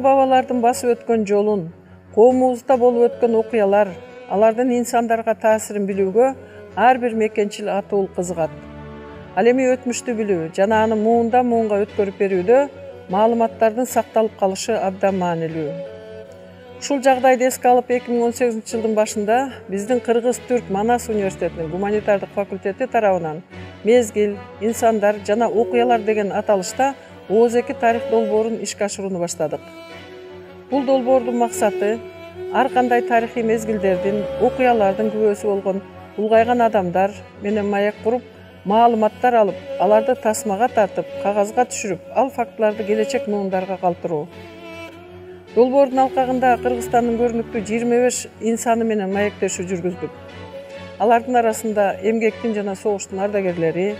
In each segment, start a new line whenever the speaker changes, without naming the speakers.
ата-бабалардын басып өткөн жолун, коомубузда болуп өткөн окуялар, алардын инсандарга таасирин билүүгө ар бир мекенчил атуул кызыгат. Ал эми өтмүштү билүү жана аны муундан муунга өткөрүп берүүдө маалыматтардын сакталып калышы абдан маанилүү. Ушул жагдайды эске алып 2018-жылдын башында биздин Кыргыз-Түрк Манас университетинин гуманитардык факультети тарабынан мезгил, инсандар жана окуялар деген аталышта ооз-2 тарых долбоорун ишке ашырууну баштадык. Бул долбоордун максаты ар кандай тарыхый мезгилдердин, окуялардын күбөсү болгон улгайган адамдар менен маек куруп, маалыматтар алып, аларды тасмага тартып, кагазга түшүрүп, ал фактыларды келечек муундарга калтыруу. Долбоордун алкагында Кыргызстандын көрүнүктүү 25 инсаны менен маектешүү жүргүздүк. Алардын арасында эмгектин жана согуштун ардагерлери,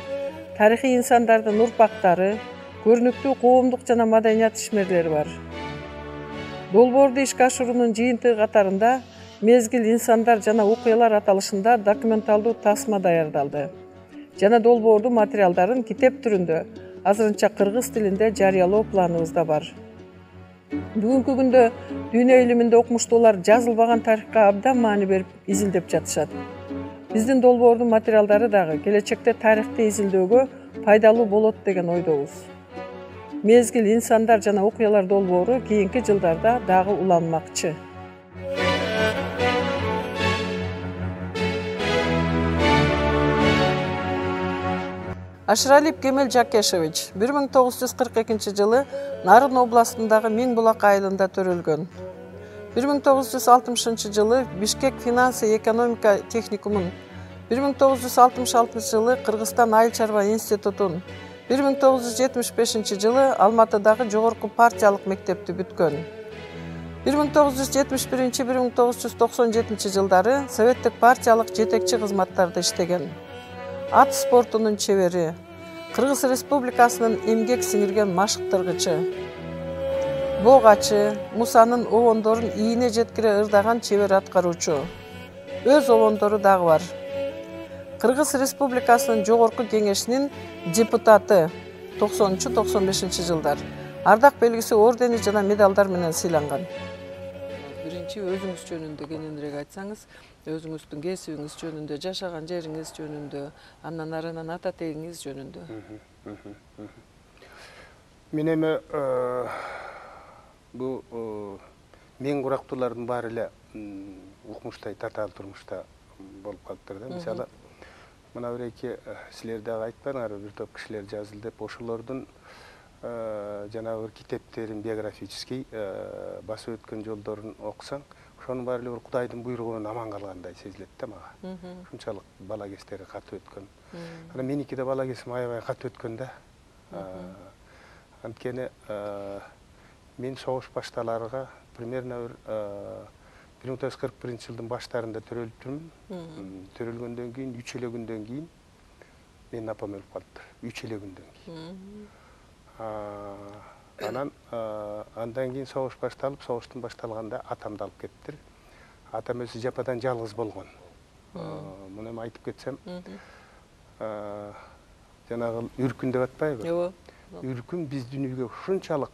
тарыхый инсандардын урпактары, көрүнүктүү коомдук жана маданият ишмерлери бар. Долбоорду ишке ашыруунун жыйынтыгы катарында мезгил, инсандар жана окуялар аталышында документалдуу тасма даярдалды жана долбоордун материалдарын китеп түрүндө азырынча кыргыз тилинде жарыялоо планыбызда бар. Бүгүнкү күндө дүйнө илиминде окумуштуулар жазылбаган тарыхка абдан маани берип изилдеп жатышат. Биздин долбоордун материалдары дагы келечекте тарыхты изилдөөгө пайдалуу болот деген ойдобуз. Мезгил, инсандар жана окуялар долбоору кийинки жылдарда дагы уланмакчы. Ашыралиев Кемел Жакешевич 1942-жылы Нарын областындагы Миң Булак айылында төрөлгөн. 1960-жылы Бишкек финансы экономика техникумун, 1966-жылы Кыргызстан айыл чарба институтун, 1975-жылы Алматыдагы жогорку партиялык мектепти бүткөн. 1971-1997 жылдары советтик партиялык жетекчи кызматтарда иштеген. Ат спортунун чебери, Кыргыз Республикасынын эмгек сиңирген машыктыргычы, богачы, Мусанын обондорун ийине жеткире ырдаган чебер аткаруучу. Өз обондору дагы бар. Кыргыз Республикасынын жогорку кеңешинин депутаты 90-95 жылдар. Ардак белгиси, ордени жана медалдар менен сыйланган. Биринчи өзүңүз жөнүндө кененирээк айтсаңыз, өзүңүздүн кесибиңиз жөнүндө, жашаган жериңиз жөнүндө, андан арынан ата тегиңиз жөнүндө.
Мен эми бул мен курактуулардын баары эле укмуштай татаал турмушта болуп калыптыр да. Мисалы, мына бир-эки силер дагы айтпадыңар, бир топ кишилер жазылды деп, ошолордун жанагы бир китептерин, биографический басып өткөн жолдорун окусаң, ошонун баары эле бир Кудайдын буйругунан аман калгандай сезилет да мага. Ушунчалык бала кездери катуу өткөн. Анан меники да бала кезим аябай катуу өткөн да. Анткени мен согуш башталарга примерно бир 1941-жылдын баштарында төрөлүптүрмүн. Төрөлгөндөн кийин 3 эле күндөн кийин менин апам өлүп калыптыр. 3 эле күндөн кийин. Анан андан кийин согуш башталып, согуштун башталганда атамды алып кетиптир. Атам өзү жападан жалгыз болгон. Муну эми айтып кетсем, жанагы үркүн деп атпайбы?
Ооба.
Үркүн биз дүйнөгө ушунчалык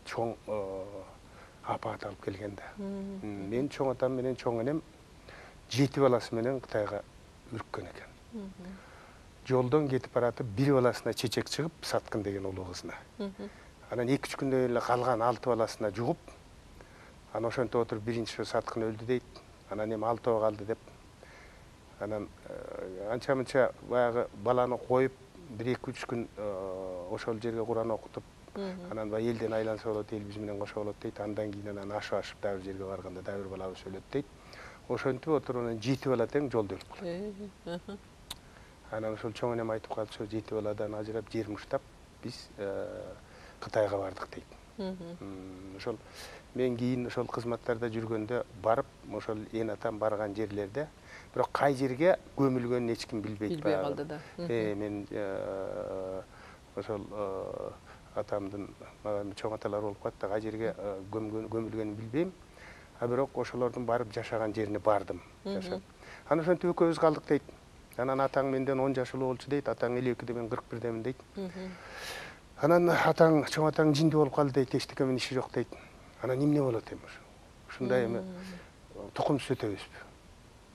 чоң апаат алып келген да. Мен чоң атам менен чоң энем 7 баласы менен Кытайга үрккөн экен. Жолдон кетип баратып, бир баласына чечек чыгып, Саткын деген улуу кызына. Анан 2-3 күндөн эле калган 6 баласына жугуп, анан ошентип отуруп биринчи Саткын өлдү дейт. Анан эми 6 калды деп. Анан анча-мынча баягы баланы коюп, 1-2-3 күн ошол жерге Куран окутуп, анан баягы элден айланса болот, эл биз менен кошо болот дейт. Андан кийин анан ашып дагы бир жерге барганда дагы бир балабыз өлөт дейт. Ошентип отуруп анан 7 бала тең жолдо өлүп калат. Анан ошол чоң энем айтып калчу, 7 баладан ажырап, жер муштап, биз Кытайга бардык дейт. Ошол мен кийин ошол кызматтарда жүргөндө барып, ошол эн атам барган жерлерде, бирок кай жерге көмүлгөнүн эч ким билбейт.
Билбей калды да.
Мен ошол атамдын чоң аталар болуп калат да, кай жерге көмүлгөнүн билбейм. А бирок ошолордун барып жашаган жерине бардым. Анан ошентип экөөбүз калдык дейт. Анан атаң менден 10 жаш улуу болчу дейт, атаң 52-де, мен 41-демин дейт. Анан атаң, чоң атаң жинди болуп калды дейт, эчтеке менен иши жок дейт. Анан эмне болот эми ошо? Ушундай эми тукумсуз өтөбүзбү?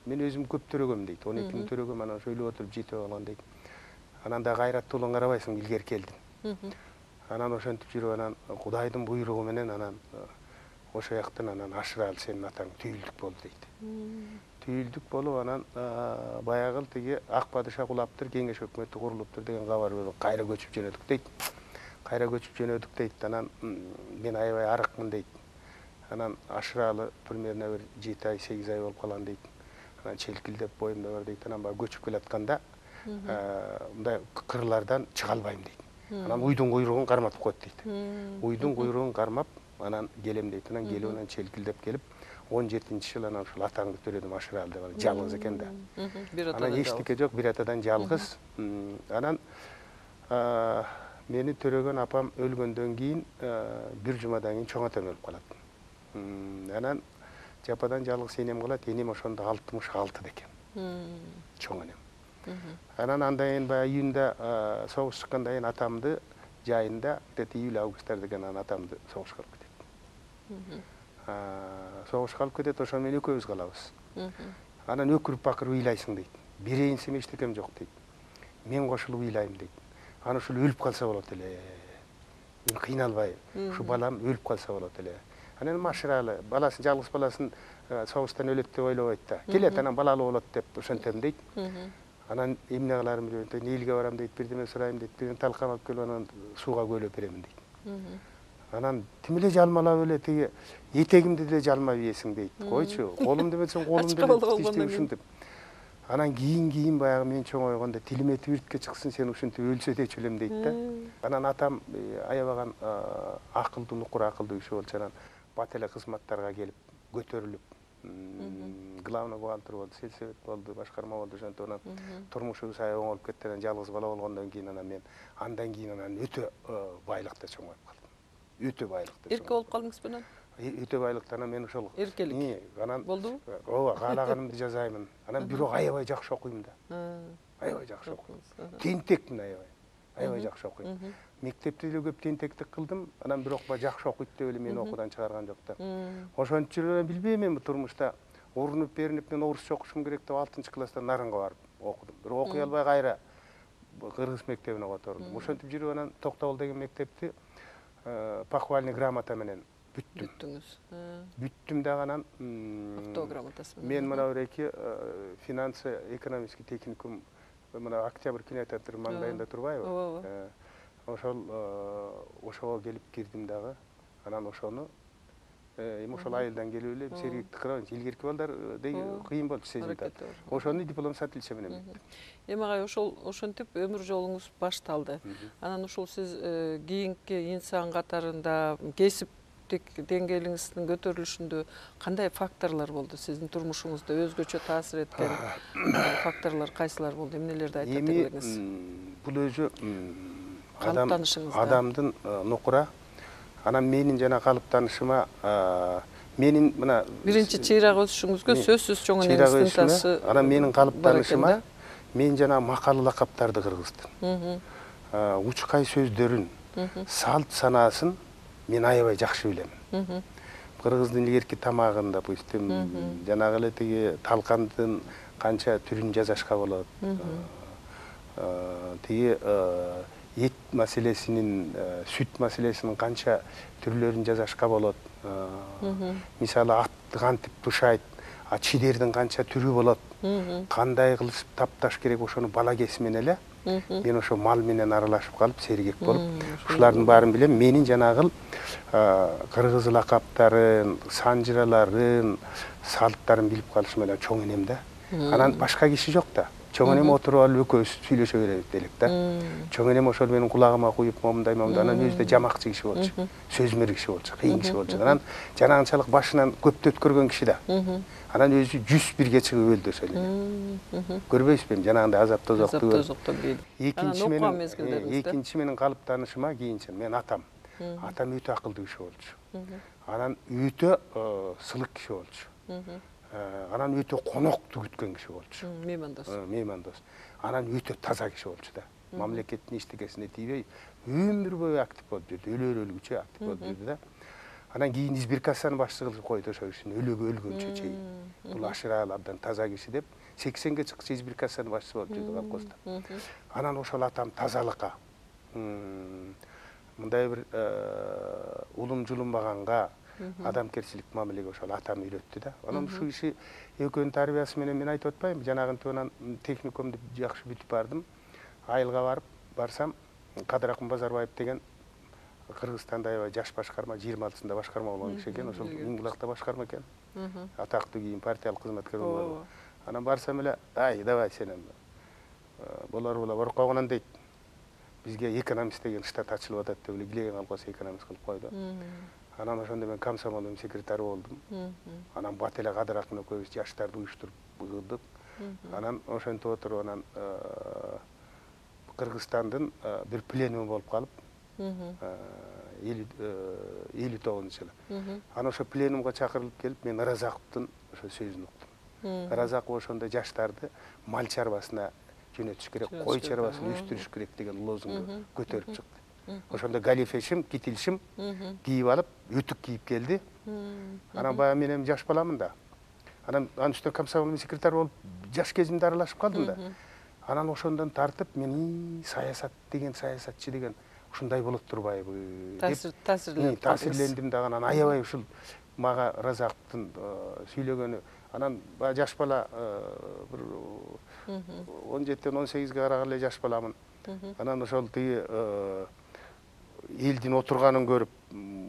Мен өзүм көп төрөгөм дейт. 12 миң төрөгөм, анан ошо ойлоп отуруп жетип алган дейт. Анан да кайраттуулугун карабайсың, илгери келдим. Анан ошентип жүрүп, анан Кудайдын буйругу менен анан ошо жактан анан Ашыралы сенин атаң түйүлдүк болду дейт. Түйүлдүк болуп, анан баягы тиги ак падыша кулаптыр, кеңеш өкмөтү курулуптур деген кабар берип кайра көчүп жөнөдүк дейт. Кайра көчүп жөнөдүк дейт. Анан мен аябай арыкмын дейт. Анан Ашыралы примерно бир 7 ай, 8 ай болуп калган дейт. Анан челкилдеп боюмда бар дейт. Анан баягы көчүп келатканда мындай кырлардан чыга албайм дейт. Анан уйдун куйругун карматып коет дейт. Уйдун куйругун кармап, анан келем дейт. Анан келип, анан челкилдеп келип, 17-жыл анан ушул атаңды төрөдүм Ашыралы деп алып, жалгыз экен да. Анан эчтеке жок, бир атадан жалгыз. Анан мени төрөгөн апам өлгөндөн кийин бир жумадан кийин чоң атам өлүп калат. Анан жападан жалгыз энем калат. Энем ошондо 66 экен. Чоң энем. Анан андан кийин баягы июнда согуш чыккандан кийин атамды жайында, где-то июль-августта деген анан атамды согушка алып кетет. Согушка алып кетет, ошо менен экөөбүз калабыз. Анан өкүрүп бакырып ыйлайсың дейт. Бирейинсем эчтекем жок дейт. Мен кошулуп ыйлайм дейт. Аны ушул өлүп калса болот эле. Мен кыйналбай, ушу балам өлүп калса болот эле. Анан Ашыралы баласын, жалгыз баласын согуштан өлөт деп ойлобойт да. Келет, анан балалуу болот деп ошентем дейт. Анан эмне кыларым билбейм дейт. Нээлге барам дейт, бирдеме сурайм дейт. Бирден талкан алып келип анан сууга көөлөп беремин дейт. Анан тим эле жалмалап эле тиги этегимди деле жалмап ийесиң дейт. Койчу, колум деметсең колум деле ушинтип. Анан кийин баягы мен чоңойгондо тилиме тибиртке чыксын, сен ушинтип өлсө дечү элем дейт да. Анан атам аябаган акылдуу, нукур акылдуу киши болчу. Анан бат эле кызматтарга келип, көтөрүлүп, главный бухгалтер болду, сельсовет болду, башкарма болду. Ошентип анан турмушубуз аябай оңолуп кетти. Анан жалгыз бала болгондон кийин анан мен андан кийин анан өтө байлыкта чоңоюп калдым. Өтө байлыкта.
Эрке болуп калдыңызбы анан?
Өтө байлыкта анан мен ошол
эркелик
анан
болдубу?
ооба, каалаганымды жазаймын. Анан бирок аябай жакшы окуйм да. Аябай жакшы окуйм. Тентекмин аябай. Аябай жакшы окуйм. Мектепте деле көп тентектик кылдым. Анан бирок жакшы окуйт деп эле мени окуудан чыгарган жок да. Ошентип жүрүп билбейм эми турмушта урунуп беринип мен орусча окушум керек деп 6-класстан Нарынга барып окудум. Бирок окуй албай кайра кыргыз мектебине котордум. Ошентип жүрүп анан Токтогул деген мектепти похвальный грамота менен бүттүм. Бүттүм дагы анан
автограмотасы менен.
Мен мына бир финансы экономический техникум мына Октябрь кинотеатры маңдайында турбайбы? Ошого келип кирдим дагы. Анан ошону эми ошол айылдан келип эле сергектик кылабыз. Илгерки балдар кыйын болчу сезилди. Ошону диплом с отличием менен бүттүм.
Эми агай ошентип өмүр жолуңуз башталды. Анан ушул сиз кийинки инсан катарында кесиптик деңгээлиңиздин көтөрүлүшүндө кандай факторлор болду? Сиздин турмушуңузда өзгөчө таасир эткен факторлор кайсылар болду? Эмнелерди айтып берсеңиз?
Эми бул өзү
калыптанышыңызда
адамдын нукура. Анан менин жана калыптанышыма менин мына
биринчи чыйрак өсүшүңүзгө сөзсүз чоң энеңиздин таасы.
Анан менин калыптанышыма мен жана макал лакаптарды кыргыздым. Учкай сөздөрүн, салт санаасын мен аябай жакшы билем. Кыргыздын илгерки тамагын, допустим, жанагы эле тиги талкандын канча түрүн жасашка болот. Тиги эт маселесинин, сүт маселесинин канча түрлөрүн жасашка болот. Мисалы атты кантип тушайт, чидердин канча түрү болот. Кандай кылып тапташ керек, ошону бала кесимен эле мен ошо мал менен аралашып калып, сергек болуп, ушулардын баарын билем. Менин жанагы кыргыз лакаптарын, санжыраларын, салттарын билип калышым эле чоң энем да. Анан башка киши жок да. Чоң энем отуруп алып экөөбүз сүйлөшө беребиз элек да. Чоң энем ошол менин кулагыма куюп, момундай анан өзү да жамакчы киши болчу. Сөзмөр киши болчу, кыйын киши болчу. Анан жанагынчалык башынан көптү өткөргөн киши да. Анан өзү 101ге чыгып өлдү ошол эле. Көрбөйсүзбү эми азап тозокту. Экинчи менин калыптанышыма кийинче мен атам өтө акылдуу киши болчу. Анан өтө сылык киши болчу. Анан өтө конокту күткөн киши болчу. Меймандос. Анан өтө таза киши болчу да. мамлекеттин эчтекесине тийбей өмүр бою актив болуп жүрдү, өлгүчө актив болуп жүрдү да. Анан кийин избиркацияны башчы кылып койду ошол кишини өлгөнчө чейин. Бул ашырал абдан таза киши деп 80ге чыкчы избиркацияны башчысы болуп жүрдү колхозда. Анан ошол атам тазалыкка, мындай бир улум жулунбаганга, адамкерчилик мамилеге ошол атам үйрөттү да. Анан ушул киши экөөнүн тарбиясы менен мен айтып атпайм, жанагынтип анан техникумду жакшы бүтүп бардым. Айылга барсам, Кадыракын Базарбаев деген Кыргызстанда аябай жаш башкарма, 26-сында башкарма болгон киши экен, ошол Ингулакта башкарма экен. Атактуу кийин партиялык кызматкер болгон. Анан барсам эле, ай, давай сенем. Болор Оркогунан дейт. Бизге экономист деген штат ачылып атат деп эле килеген колкоосу экономист кылып койду. Анан ошондо мен комсомолдун секретары болдум. Анан бат эле Кадыракын экөөбүз жаштарды уюштуруп кылдык. Анан ошентип отуруп анан Кыргызстандын бир пленуму болуп калып, 59-жылы. Анан ошо пленумга чакырылып келип, мен Ыразаковдун ошо сөзүн уктум. Ыразаков ошондо жаштарды мал чарбасына жөнөтүш керек, кой чарбасын өстүрүш керек деген лозунгду көтөрүп чыкты. Ошондо галифешим, китилшим кийип алып, өтүк кийип келди. Анан баягы мен эми жаш баламын да. Анан үстүнө комсомолдун секретары болуп, жаш кезимде аралашып калдым да. Анан ошондон тартып мен саясат деген саясатчы деген ушундай болот турбайбы деп таасирлендим да. Анан аябай ушул мага Ыразаковдун сүйлөгөнү. Анан баягы жаш бала бир 17-18ге караган эле жаш баламын. Анан ошол тиги элдин отурганын көрүп,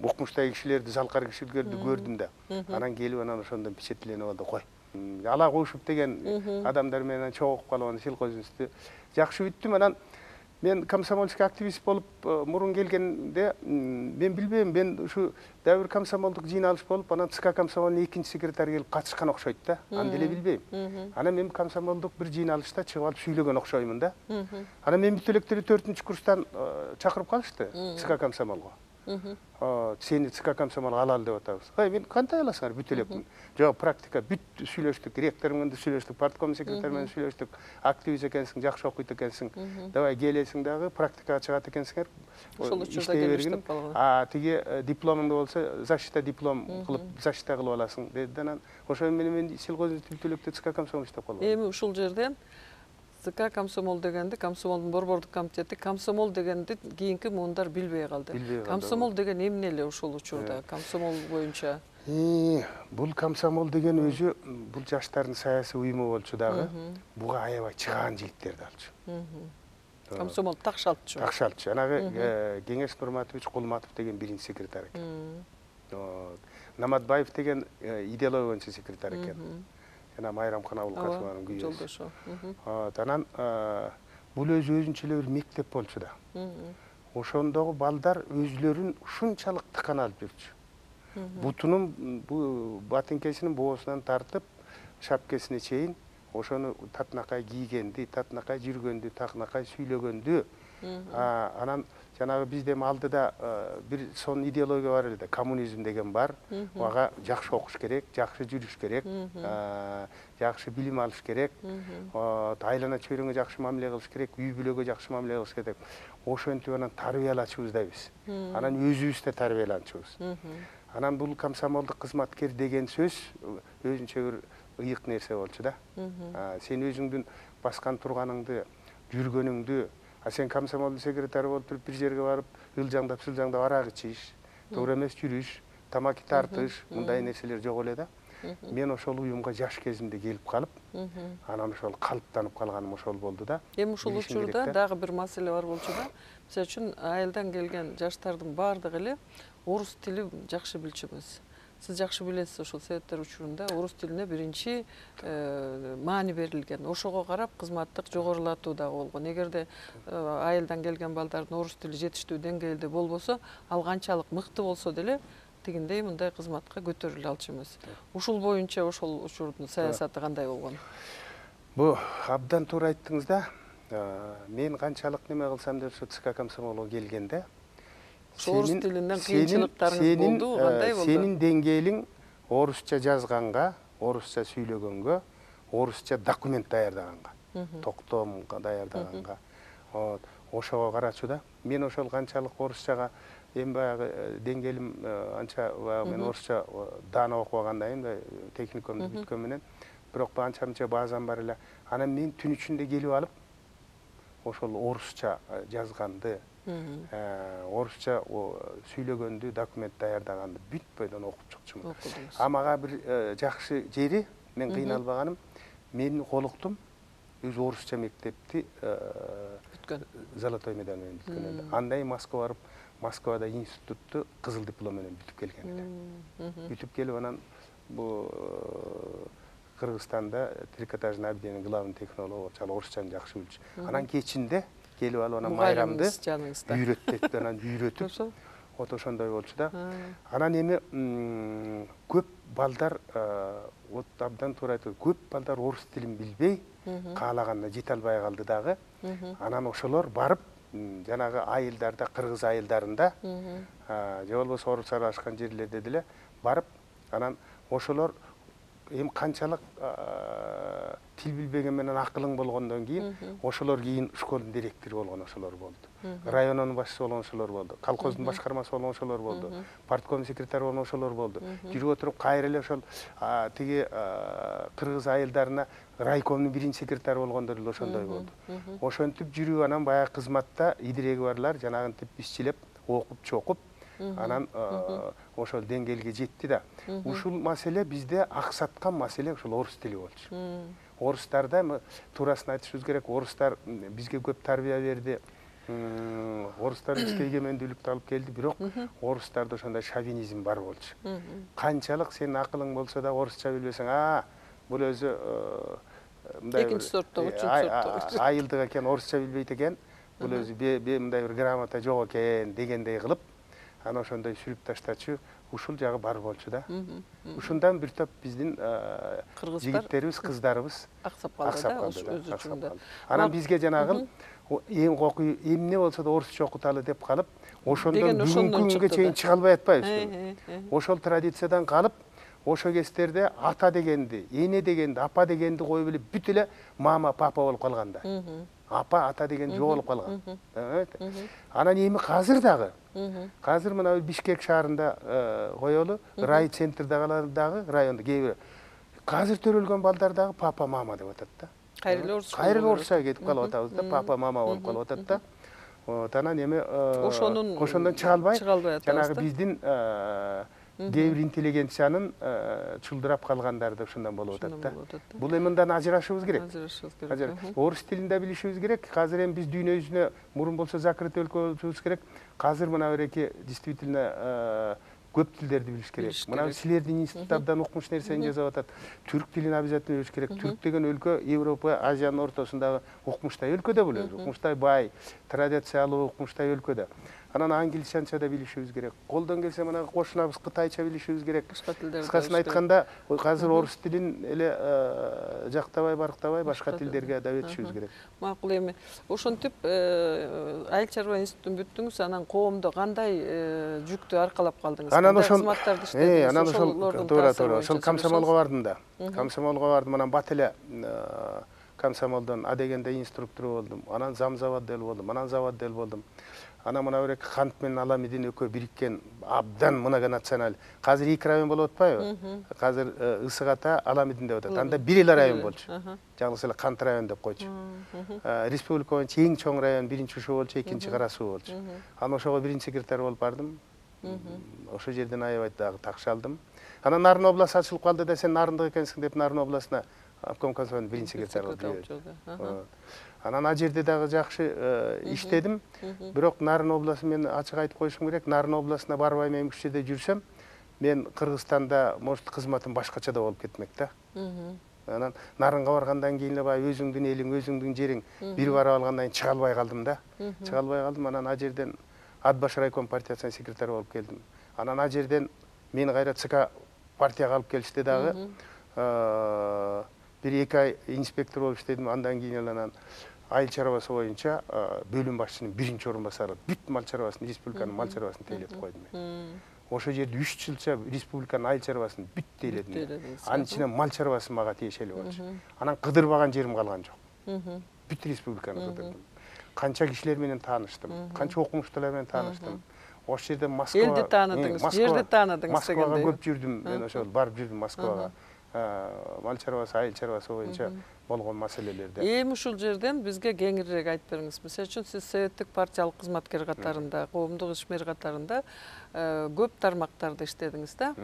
укмуштагы кишилерди, залкар кишилерди көрдүм да. Анан келип анан ошондон впечатление болду, кой. Ала Куушев деген адамдар менен чогулуп калып анан сельхозинститутта жакшы бүттүм. Анан мен комсомольский активист болуп мурун келгенде мен билбейм, мен ушу дагы бир комсомолдук жыйналыш болуп, анан ЦК комсомолдун 2-секретары келип катышкан окшойт да. Аны деле билбейм. Анан мен комсомолдук бир жыйналышта чыгып алып сүйлөгөн окшоймун да. Анан мен бүт электерди 4-курстан чакырып калышты ЦК комсомолго. Сени ЦК комсомолго алалы деп атабыз. Мен кантип аласыңар бүт элекмин? Жок, практика бүт сүйлөштүк, ректор менен да сүйлөштүк, партком секретары менен сүйлөштүк. Активист экенсиң, жакшы окуйт экенсиң. Давай келесиң дагы, практикага чыгат экенсиңер.
Ошол учурда келиштип калган.
Тиги дипломуңда болсо, защита диплом кылып, защита кылып аласың деди. Анан ошо менен мен сельхозинститут бүт электе ЦК комсомол иштеп калдым.
Эми ушул жерден ЦК комсомол дегенди, комсомолдун борбордук комитети, комсомол дегенди кийинки муундар билбей калды. Комсомол деген эмне эле ушул учурда, комсомол боюнча?
Бул комсомол деген өзү бул жаштардын саясий уюму болчу дагы, буга аябай чыгаан жигиттерди алчу.
Комсомол такшалтчу.
Такшалтчу. Анагы Кеңеш Нурматович Кулматов деген биринчи секретарь экен. Наматбаев деген идеология боюнча секретарь экен. Жана Майрамкан Абылкасованын күйөөсү. Анан бул өзүнчө эле бир мектеп болчу да. Ошондогу балдар өзлөрүн ушунчалык тыкан алып жүрчү. Бутунун, батинкесинин боосунан тартып, шапкесине чейин ошону татынакай кийгенди, татынакай жүргөндү, татынакай сүйлөгөндү. Анан жанагы бизде алдыда бир сон идеология бар эле, коммунизм деген бар. Ага жакшы окуш керек, жакшы жүрүш керек, жакшы билим алыш керек, айлана чөйрөңө жакшы мамиле кылыш керек, үй бүлөгө жакшы мамиле кылыш керек. Ошентип анан тарбиялачубуз да биз. Анан өзүбүз да тарбияланчубуз. Анан бул комсомолдук кызматкер деген сөз өзүнчө бир ыйык нерсе болчу да. Сен өзүңдүн баскан турганыңды, жүргөнүңдү, сен комсомолдун секретары болуп туруп бир жерге барып, ылжаңдап, сылжаңдап арак ичиш, туура эмес жүрүш, тамаки тартыш, мындай нерселер жок эле да. Мен ошол уюмга жаш кезимде келип калып, анан ошол калыптанып калганым ошол болду да.
Эми ушул учурда дагы бир маселе бар болчу да. Мисалы үчүн айылдан келген жаштардын баардыгы эле орус тилин жакшы билчүмүз. Сиз жакшы билесиз, ошол советтер учурунда орус тилине биринчи маани берилген. Ошого карап кызматтык жогорулатуу дагы болгон. Эгерде айылдан келген балдардын орус тили жетиштүү деңгээлде болбосо, ал канчалык мыкты болсо деле тигиндей мындай кызматка көтөрүлө алчумуз. Ушул боюнча ошол учурдун саясаты кандай болгон?
Бу абдан туура айттыңыз да. Мен канчалык неме кылсам деп ошо ЦК комсомолго келгенде
орус тилинен кыйынчылыктарыңыз болду, кандай болду?
Сенин деңгээлиң орусча жазганга, орусча сүйлөгөнгө, орусча документ даярдаганга, токтом даярдаганга. ошого карачу да. Мен ошол канчалык орусчага эми баягы деңгээлим анча баягы мен орусча даана окубагандан кийин мындай техникумду бүткөн менен бирок анча мынча базам бар эле. Анан мен түн ичинде келип алып ошол орусча жазганды, орусча сүйлөгөндү, документ даярдаганды бүт бойдон окуп чыкчумун. Мага бир жакшы жери, мен кыйналбаганым, менин колуктум өз орусча мектепти бүткөн. Золотой медаль менен бүткөн. Андан кийин Москвага барып, Москвада институтту кызыл диплом менен бүтүп келген эле. Бүтүп келип анан бу Кыргызстанда трикотажный абденин главный технологу болчу, ал орусчаны жакшы билчү. Анан кечинде келип алып анан майрамды үйрөттү, анан үйрөтүп, вот ошондой болчу да. Анан эми көп балдар, вот абдан туура айтып, көп балдар орус тилин билбей, каалаганда жете албай калды дагы. Анан ошолор барып, жанагы айылдарда, кыргыз айылдарында, же болбосо орус аралашкан жерлерде деле барып, анан ошолор эми канчалык тил билбеген менен акылың болгондон кийин ошолор кийин школдун директору болгон ошолор болду. Районунун башчысы болгон ошолор болду. Колхоздун башкармасы болгон ошолор болду. Партком секретары болгон ошолор болду. Жүрүп отуруп кайра эле ошол тиги кыргыз айылдарына райкомдун биринчи секретары болгондор эле ошондой болду. Ошентип жүрүп анан баягы кызматта идиреги барлар жанагынтип ишчилеп, окуп, чокуп анан ошол деңгээлге жетти да. Ушул маселе бизде аксаткан маселе ушул орус тили болчу. Орустарда туурасын айтышыбыз керек, орустар бизге көп тарбия берди. Орустар бизге эгемендүүлүктү алып келди, бирок орустарда ошондой шовинизм бар болчу. Канчалык сенин акылың болсо да орусча билбесең, бул өзү мындай
экинчи сорттогу, үчүнчү сорттогу
айылдык экен, орусча билбейт экен, бул өзү мындай бир грамота жок экен дегендей кылып, анан ошондой сүрүп таштачу ушул жагы бар болчу да. Ушундан бир топ биздин жигиттерибиз, кыздарыбыз
аксап калды да, өз учурунда.
Анан бизге жанагы эмне болсо да орусча окуталы деп калып, ошондон бүгүнкү күнгө чейин чыга албай атпайбызбы? Ошол традициядан калып, ошо кездерде ата дегенди, эне дегенди, апа дегенди коюп эле бүт эле мама, папа болуп калган да. Апа, ата деген жоголуп калган. Анан эми азыр дагы, азыр мына Бишкек шаарында коелу, рай центрде дагы райондо кээ бир азыр төрөлгөн балдар дагы папа, мама деп атат да.
Кайра
эле орусча кетип калып атабыз да, папа, мама болуп калып атат да. Вот анан эми ошондон чыга албай, жанагы биздин кээ бир интеллигенциянын чулдурап калгандары да ошондон болуп атат да. Бул эми мындан ажырашыбыз керек. Орус тилин да билишибиз керек. Азыр эми биз дүйнө жүзүнө мурун болсо закрытый өлкө болушубуз керек. Азыр мына береки действительно көп тилдерди билиш керек. Мына силердин институт абдан укмуш нерсени жасап атат. Түрк тилин обязательно билиш керек. Түрк деген өлкө Европа, Азиянын ортосундагы укмуштай өлкө да бул өзү. Укмуштай бай, традициялуу укмуштай өлкө да. Анан англисчанча да билишибиз керек. Колдон келсе мына кошунабыз кытайча билишибиз керек. Кыскасын айтканда, азыр орус тилин эле жактабай, барктабай башка тилдерге да өтүшүбүз керек.
Макул эми. Ошентип айыл чарба институтун бүттүңүз, анан коомдо кандай жүктү аркалап калдыңыз?
Анан ошол
кызматтарды иштедиңиз?
Анан ошол туура, ошол комсомолго бардым да. Комсомолго бардым, анан бат эле комсомолдон А дегенде инструктор болдум. Анан зам заводдел болдум, анан заводдел болдум. Анан мына берек Кант менен Аламидин экөө бириккен абдан многонационал. Азыр 2 район болуп атпайбы? Азыр Ысык Ата, Аламидин деп атат. Анда бир эле район болчу. Жалгыз эле Кант район деп койчу. Республика боюнча эң чоң район биринчи ушул болчу, экинчи Кара Суу болчу. Анан ошого биринчи секретарь болуп бардым. Ошол жерден аябай дагы такшы алдым. Анан Нарын область ачылып калды да, сен Нарындык экенсиң деп Нарын областына обком комсомолдун биринчи секретарь болуп. Анан ал жерде дагы жакшы иштедим. Бирок Нарын областын мен ачык айтып коюшум керек, Нарын областына барбай мен күчтөдө жүрсөм, мен Кыргызстанда может кызматым башкача да болуп кетмек да. Анан Нарынга баргандан кийин эле баягы өзүңдүн элиң, өзүңдүн жериң бир барып алгандан кийин чыга албай калдым да. Чыга албай калдым. Анан ал жерден Атбаш райком партиясынын секретары болуп келдим. Анан ал жерден мени кайра ЦК партияга алып келишти дагы. Бир 2 ай инспектор болуп иштедим. Андан кийин эле анан айыл чарбасы боюнча бөлүм башчысынын биринчи орун басары бүт мал чарбасын, республиканын мал чарбасын тейлетип койдум мен. Ошол жерде 3 жылча республиканын айыл чарбасын бүт тейледим. Анын ичинен мал чарбасы мага тиешелүү болчу. Анан кыдырбаган жерим калган жок. Бүт республиканы кыдырдым. канча кишилер менен тааныштым, канча окумуштуулар менен тааныштым. Ошол жерде
Элди тааныдыңыз, жерди тааныдыңыз
Москвага көп жүрдүм. Мен ошол барып жүрдүм Москвага. Мал чарбасы, айыл чарбасы боюнча болгон маселелерде.
Эми ушул жерден бизге кеңирээк айтып бериңиз. Мисалы үчүн сиз советтик партиялык кызматкер катарында, коомдук ишмер катарында көп тармактарда иштедиңиз да.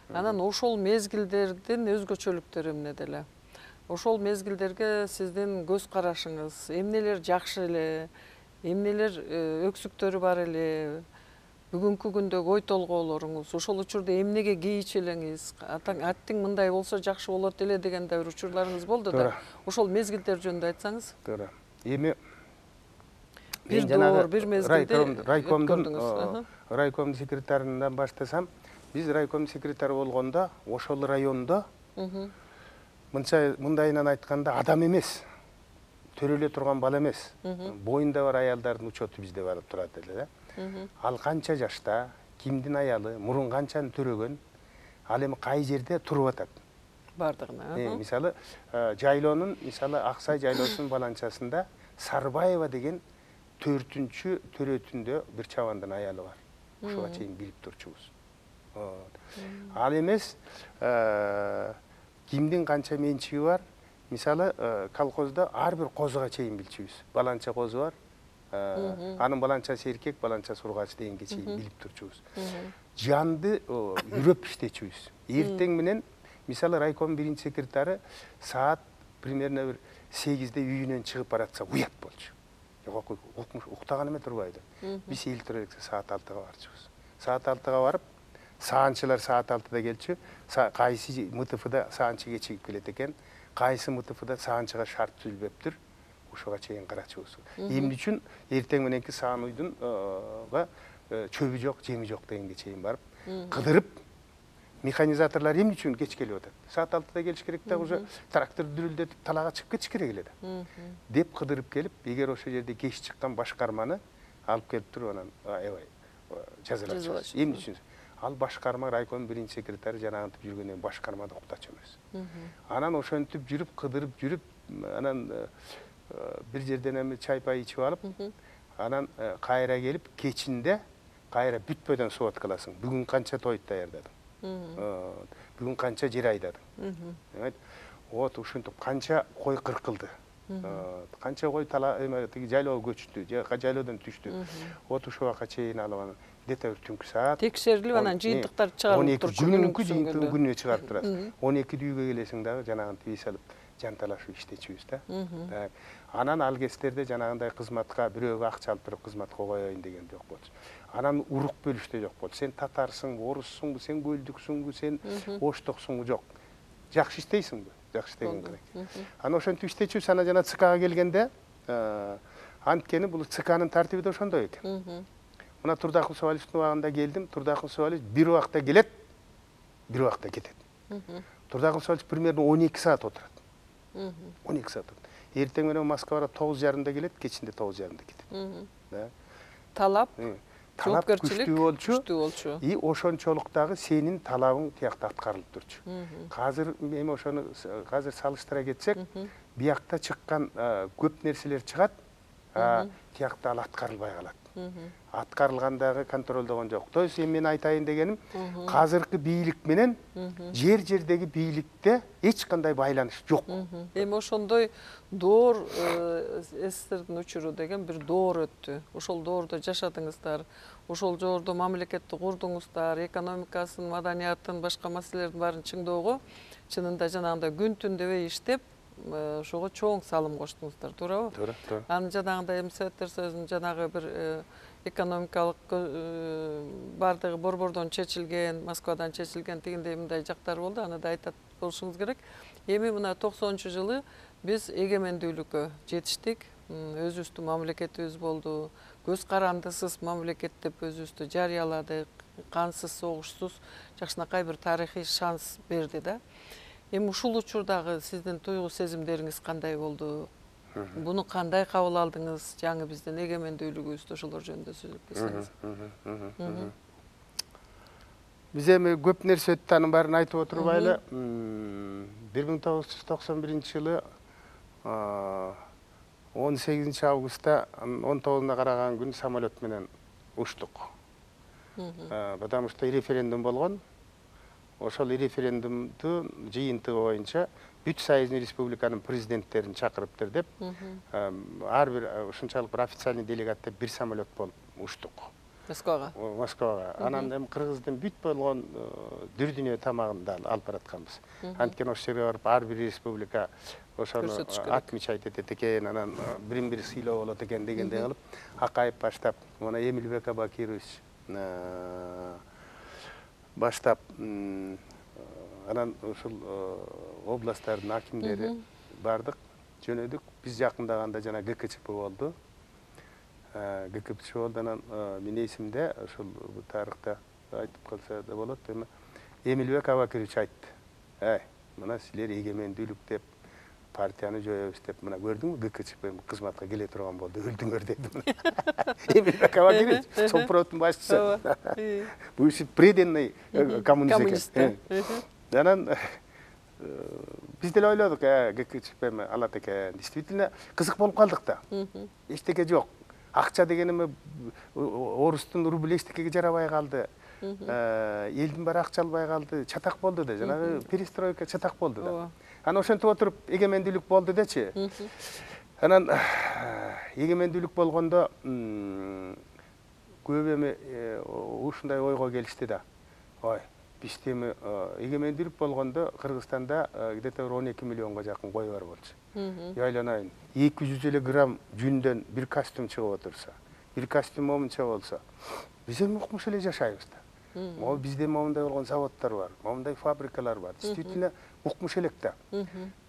Анан ошол мезгилдердин өзгөчөлүктөрү эмнеде эле? Ошол мезгилдерге сиздин көз карашыңыз, эмнелер жакшы эле, эмнелер өксүктөрү бар эле? Бүгүнкү күндөгү ой толгоолоруңуз, ошол учурда эмнеге кейич элеңиз, аттиң мындай болсо жакшы болот эле деген да бир учурларыңыз болду да. Ошол мезгилдер жөнүндө айтсаңыз.
Туура. Эми
бир доор, бир мезгилде
райкомдун секретарынан баштасам, биз райкомдун секретары болгондо ошол райондо мындайынан айтканда адам эмес, төрөлө турган бала эмес, боюнда бар аялдардын учету бизде барып турат эле да. Ал канча жашта, кимдин аялы, мурун канчаны төрөгөн, ал эми кай жерде туруп атат.
Бардыгына.
Мисалы, жайлоонун, мисалы Аксай жайлоосунун баланчасында Сарбаева деген 4-чү төрөтүндө бир чабандын аялы бар. Ушуга чейин билип турчубуз. Ал эмес, кимдин канча менчиги бар, мисалы, колхоздо ар бир козуга чейин билчүбүз. Баланча козу бар. Анын баланчасы эркек, баланчасы ургач дегенге чейин билип турчубуз. Жанды үрөп иштечүбүз. Эртең менен, мисалы, райком биринчи секретары саат примерно бир 8-де үйүнөн чыгып баратса уят болчу. Уктаган эме турбайды. Биз эл тура элек саат 6-га барчубуз. Саат 6-га барып, саанчылар саат 6-да келчү. Кайсы МТФда саанчы кечигип келет экен, кайсы МТФда саанчыга шарт түзүлбөптүр. Ушуга чейин карачубуз. Эмне үчүн эртең мененки саан уйдунга чөбү жок, жеми жок дегенге чейин барып, кыдырып, механизаторлор эмне үчүн кеч келип атат? Саат 6-да келиш керек да, уже трактор дүрүлдөтүп, талага чыгып кетиш керек эле да. Деп кыдырып келип, эгер ошол жерде кеч чыккан башкарманы алып келип туруп, анан аябай жазалачу. Эмне үчүн? Ал башкарма райком биринчи секретары жанагынтип жүргөндөн башкармада уктачу эмес. Анан ошентип жүрүп, кыдырып жүрүп, анан бир жерден эми чай-пай ичип алып, анан кайра келип, кечинде кайра бүтпөдөн сводка аласың. Бүгүн канча той даярдадың? Бүгүн канча жер айдадың? Вот ушинтип канча кой кыркылды? Канча кой тиги жайлоого көчтү, же жайлоодон түштү? Вот ушул убакка чейин алып где-то түнкү саат
текшерилип анан жыйынтыктар чыгарылып турчу.
Күнүнө чыгарып турасың. 12 үйгө келесиң дагы жанагынтип эс алып жанталашып иштечүбүз да. Анан ал кездерде жанагындай кызматка бирөөгө акча алып туруп кызматка коеюн деген жок болчу. Анан урук бөлүштө жок болчу. Сен татарсың, оруссуңбу, сен көлдүксүңбү, сен оштоксуңбу, жок. Жакшы иштейсиңби? Жакшы иштеген керек. Анан ошентип иштечүбүз, анан жана ЦКга келгенде, анткени бул ЦКнын тартиби да ошондой экен. Мына Турдакул Сабалевдин убагында келдим, Турдакул Сабалев бир убакта келет, бир убакта кетет. Турдакул Сабалев примерно 12 саат отурат. 12 саат. Эртең менен Москвага 9:30-да келет, кечинде 9:30-да кетет.
Талап,
жоопкерчилик күчтүү болчу. И ошончолук дагы сенин талабың тиякта аткарылып турчу. Азыр эми ошону азыр салыштыра кетсек, биякта чыккан көп нерселер чыгат, тиякта ал аткарылбай калат. Аткарылгандагы контролдогон жок. То есть эми мен айтайын дегеним, азыркы бийлик менен жердеги бийликте эч кандай байланыш жок.
Эми ошондой доор СССРдин учуру деген бир доор өттү. Ошол доордо жашадыңыздар, ошол жордо мамлекетти курдуңуздар, экономикасын, маданиятын, башка маселелердин баарын чыңдоого чынында жанагындай күн түн дебей иштеп, ошого чоң салым коштуңуздар, туурабы?
Туура.
Анын жанагындай эми Советтер Союзунун жанагы бир экономикалык бардыгы борбордон чечилген, Москвадан чечилген тигиндей мындай жактары болду, аны да айтат болушуңуз керек. Эми мына 90-жылы биз эгемендүүлүккө жетиштик, өзүбүздүн мамлекетибиз болду, көз карандысыз мамлекет деп өзүбүздү жарыяладык, кансыз, согушсуз, жакшынакай бир тарыхый шанс берди да. Эми ушул учурдагы сиздин туйгу сезимдериңиз кандай болду? Буну кандай кабыл алдыңыз? Жаңы биздин эгемендүүлүгүбүздү ошолор жөнүндө сүйлөп кетсеңиз.
Биз эми көп нерсе өттү, анын баарын айтып отурбайлы. 1991-жылы 18 августта 19-на караган күн самолет менен учтук. Потому что референдум болгон. Ошол референдумду жыйынтыгы боюнча бүт Союзный республиканын президенттерин чакырыптыр деп, ар бир ушунчалык бир официальный делегат деп бир самолет болуп учтук. Москвага. Анан эми Кыргыздын бүт болгон дүр дүйнө тамагын да алып баратканбыз. Анткени ошол жерге барып ар бир республика ошону отмечать этет экен, анан бирин-бири сыйлоо болот экен дегендей кылып, Акаев баштап, мына Эмилбек Абакирович баштап, анан ушул областтардын акимдери бардык, жөнөдүк. Биз жакындаганда жана ГКЧП болду. ГКЧП болду, анан менин эсимде ушул тарыхта айтып калса да болот, эми Эмилбек Абакирович айтты. Мына силер эгемендүүлүк деп партияны жоебуз деп, мына көрдүңбү, ГКЧП кызматка келе турган болду, өлдүңөр деди. Эмилбек Абакирович, Совпродтун башчысы. Бывший преданный коммунист экен. Анан биз деле ойлодук, ГКЧП алат экен. Действительно кызык болуп калдык да. Эчтеке жок. Акча деген эми орустун рубль эчтекеге жарабай калды. Элдин баары акча албай калды, чатак болду да, жанагы перестройка чатак болду да. Анан ошентип отуруп эгемендүүлүк болду дечи. Анан эгемендүүлүк болгондо көп эми ушундай ойго келишти да. Ой, бизде эми эгемендүүлүк болгондо Кыргызстанда где-то 12 миллионго жакын кой бар болчу. Яйланайын. 200 эле грамм жүндөн бир костюм чыгып отурса, бир костюм момунча болсо, биз эми укмуш эле жашайбыз да. Могу бизде момундай болгон заводдор бар, момундай фабрикалар бар. Действительно укмуш элек да.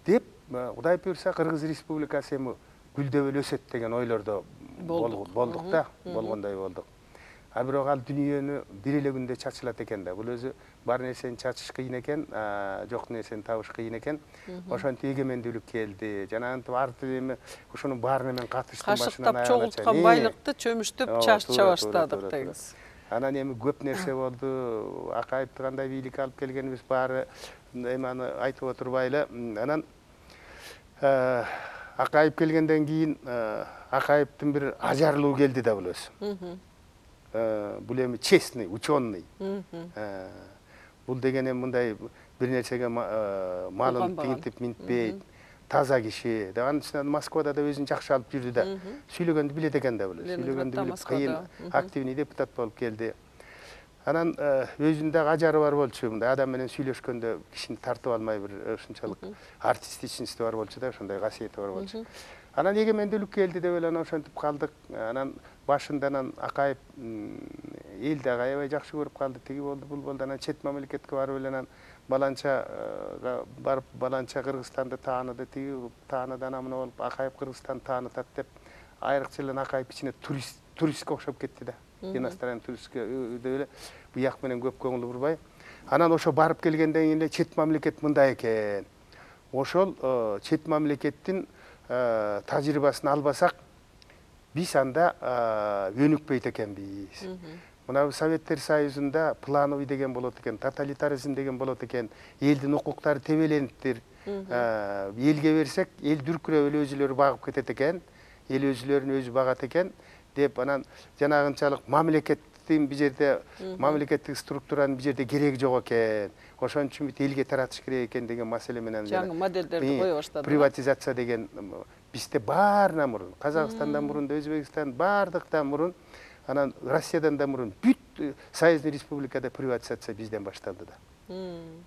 Деп, Кудай буйрса Кыргыз Республикасы эми гүлдөп эле өсөт деген ойлордо болдук да, болгондой болдук. А бирок ал дүнүйөнү бир эле күндө чачылат экен да. Бул өзү бар нерсени чачыш кыйын экен, жок нерсени табыш кыйын экен. Ошентип эгемендүүлүк келди. Жанагынтип арты эми ошонун баарына мен катыштым башынан аягына.
Кашыктап чогулткан байлыкты чөмүштүп чача баштадык дегиз.
Анан эми көп нерсе болду. Акаевди кандай бийликке алып келгенибиз баары эми аны айтып отурбайлы. Анан Акаев келгенден кийин Акаевдин бир ажарлуу келди да бул өзү. Бул эми честный, ученый. Бул деген эми мындай бир нерсеге малын тигинтип минтпейт, таза киши. Анын үстүнө Москвада да өзүн жакшы алып жүрдү да. Сүйлөгөндү билет экен да бул. Сүйлөгөндү билип кыйын активный депутат болуп келди. Анан өзүнүн дагы ажары бар болчу. Мындай адам менен сүйлөшкөндө кишини тартып алмай бир ушунчалык артистичности бар болчу да, ошондой касиети бар болчу. Анан эгемендүүлүк келди деп эле ошентип калдык. Анан башында анан Акаев эл дагы аябай жакшы көрүп калды. Тиги болду, бул болду. Анан чет мамлекетке барып эле анан баланчага барып баланча Кыргызстанды тааныды. Тиги тааныды, анан мына болуп Акаев Кыргызстанды таанытат деп айрыкча эле Акаев ичине туристке окшоп кетти да. Иностранный туристке деп эле буяк менен көп көңүл бурбай. Анан ошо барып келгенден кийин эле чет мамлекет мындай экен. Ошол чет мамлекеттин тажрыйбасын албасак, биз анда өнүкпөйт экенбиз. Мына Советтер Союзунда плановый деген болот экен, тоталитаризм деген болот экен, элдин укуктары тебелениптир. Элге берсек, эл дүркүрөп эле өзүлөрү багып кетет экен, эл өзүлөрүн өзү багат экен деп, анан жанагынчалык мамлекеттин бир жерде мамлекеттик структуранын бир жерде кереги жок экен. Ошон үчүн бүт элге таратыш керек экен деген маселе менен
жаңы модельдерди кое баштады.
Приватизация деген бизде баарынан мурун, Казакстандан мурун, Өзбекстан бардыктан мурун, анан Россиядан да мурун бүт Союзный республикада приватизация бизден башталды да.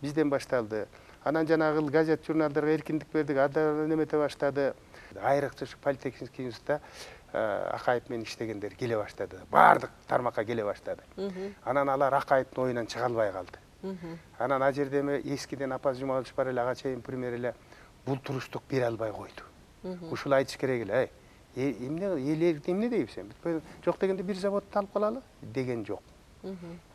Бизден башталды. Анан жанагы газет журналдарга эркиндик бердик, ада немете баштады. Айрыкча ушу политехнический институтта Акаев менен иштегендер келе баштады. Бардык тармакка келе баштады. Анан алар Акаевдин оюнан чыга албай калды. Анан ал жерде эскиден Апаз Жумабаевич бар эле, ага чейин премьер эле бул туруштук бере албай койду. Ушул айтыш керек эле. Эмне дейбиз эми? Жок дегенде бир заводду алып калалы деген жок.